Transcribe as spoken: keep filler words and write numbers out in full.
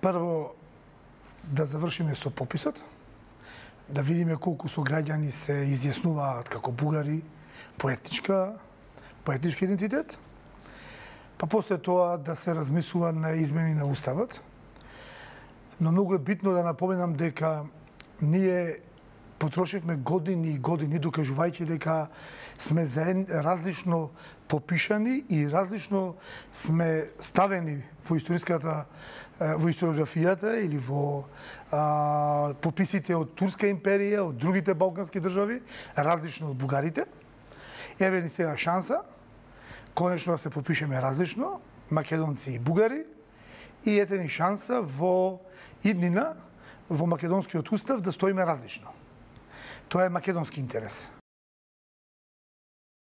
Прво, да завршиме со пописот, да видиме колку сограѓани се изјаснуваат како бугари по етничка, по етнички идентитет, па после тоа да се размислува на измени на уставот. Но многу е битно да напоменам дека ние потрошивме години и години докажувајќи дека сме заедно различно попишани и различно сме ставени во историската во историографијата или во а, пописите од Турска империја, од другите балкански држави, различно од бугарите. Еве ни сега шанса, конечно да се попишеме различно, македонци и бугари, и ете ни шанса во иднина, во македонскиот устав да стоиме различно. Тоа е македонски интерес.